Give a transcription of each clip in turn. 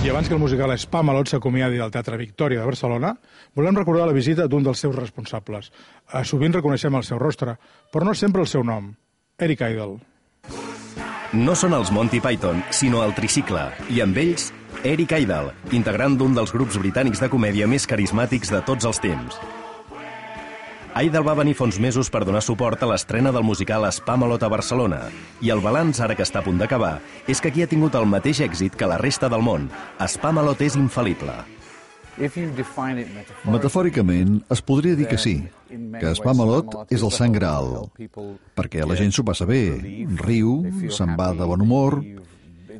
I abans que el musical Spamalot s'acomiadi del Teatre Victòria de Barcelona, volem recordar la visita d'un dels seus responsables. Sovint reconeixem el seu rostre, però no sempre el seu nom. Eric Idle. No són els Monty Python, sinó el Tricicle, i amb ells, Eric Idle, integrant d'un dels grups britànics de comèdia més carismàtics de tots els temps. Idle va venir fa uns mesos per donar suport a l'estrena del musical Spamalot a Barcelona, i el balanç, ara que està a punt d'acabar, és que aquí ha tingut el mateix èxit que la resta del món. Spamalot és infal·lible. Metafòricament, es podria dir que sí, que Spamalot és el sant graal, perquè la gent s'ho passa bé, riu, se'n va de bon humor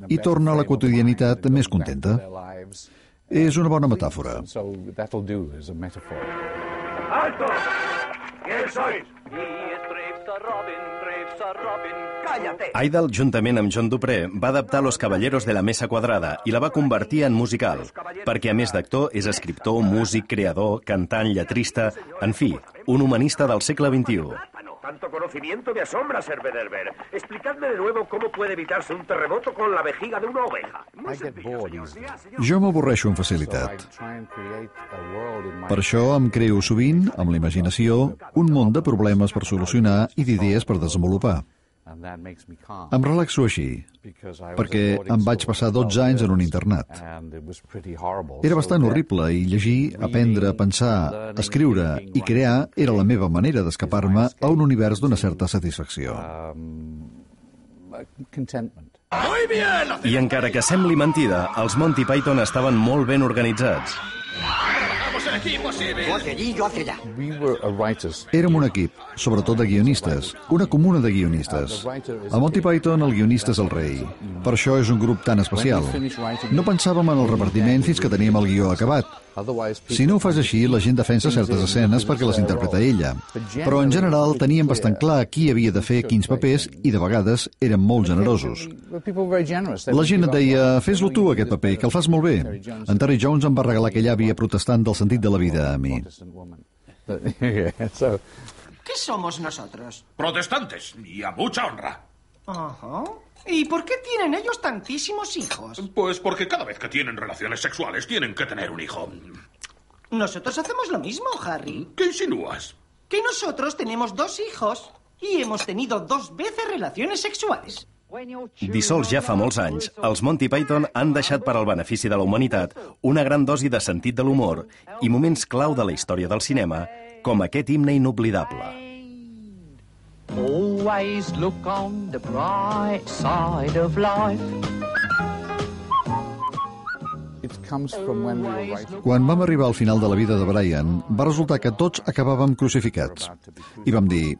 i torna a la quotidianitat més contenta. És una bona metàfora. ¡Alto! ¿Quién sois? Cállate! Idle, juntament amb John Dupré, va adaptar Los Caballeros de la Mesa Quadrada i la va convertir en musical, perquè a més d'actor és escriptor, músic, creador, cantant, lletrista, en fi, un humanista del segle XXI. Tanto conocimiento me asombra, Sir Bederber. Explicadme de nuevo cómo puede evitarse un terremoto con la vejiga de una oveja. Jo m'avorreixo amb facilitat. Per això em creo sovint, amb la imaginació, un munt de problemes per solucionar i d'idees per desenvolupar. Em relaxo així, perquè em vaig passar 12 anys en un internat. Era bastant horrible i llegir, aprendre, pensar, escriure i crear era la meva manera d'escapar-me a un univers d'una certa satisfacció. I encara que sembli mentida, els Monty Python estaven molt ben organitzats. Érem un equip, sobretot de guionistes, una comuna de guionistes. A Monty Python el guionista és el rei. Per això és un grup tan especial. No pensàvem en el repartiment fins que teníem el guió acabat. Si no ho fas així, la gent defensa certes escenes perquè les interpreta ella. Però en general teníem bastant clar qui havia de fer quins papers i de vegades érem molt generosos. La gent et deia, fes-lo tu aquest paper, que el fas molt bé. En Terry Jones em va regalar aquella àvia protestant del sentit de la vida a mi. ¿Qué somos nosotros? Protestantes, y a mucha honra. Ajá. ¿Y por qué tienen ellos tantísimos hijos? Pues porque cada vez que tienen relaciones sexuales tienen que tener un hijo. Nosotros hacemos lo mismo, Harry. ¿Qué insinúas? Que nosotros tenemos 2 hijos y hemos tenido 2 veces relaciones sexuales. Dissolts ja fa molts anys, els Monty Python han deixat per al benefici de la humanitat una gran dosi de sentit de l'humor i moments clau de la història del cinema, com aquest himne inoblidable. Always look on the bright side of life. Quan vam arribar al final de la vida de Brian, va resultar que tots acabàvem crucificats. I vam dir,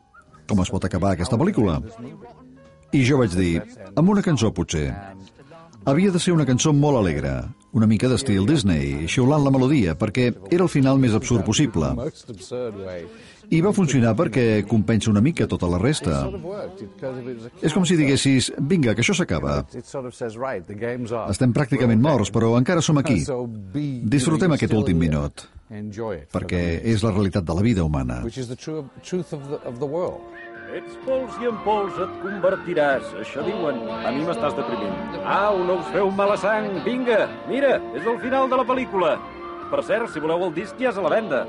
com es pot acabar aquesta pel·lícula? I jo vaig dir, amb una cançó potser. Havia de ser una cançó molt alegre, una mica d'estil Disney, xiulant la melodia, perquè era el final més absurd possible. I va funcionar perquè compensa una mica tota la resta. És com si diguessis, vinga, que això s'acaba. Estem pràcticament morts, però encara som aquí. Disfrutem aquest últim minut, perquè és la realitat de la vida humana. Ets pols i en pols et convertiràs, això diuen. A mi m'estàs deprimint. Au, no us feu mala sang, vinga, mira, és el final de la pel·lícula. Per cert, si voleu el disc ja és a la venda.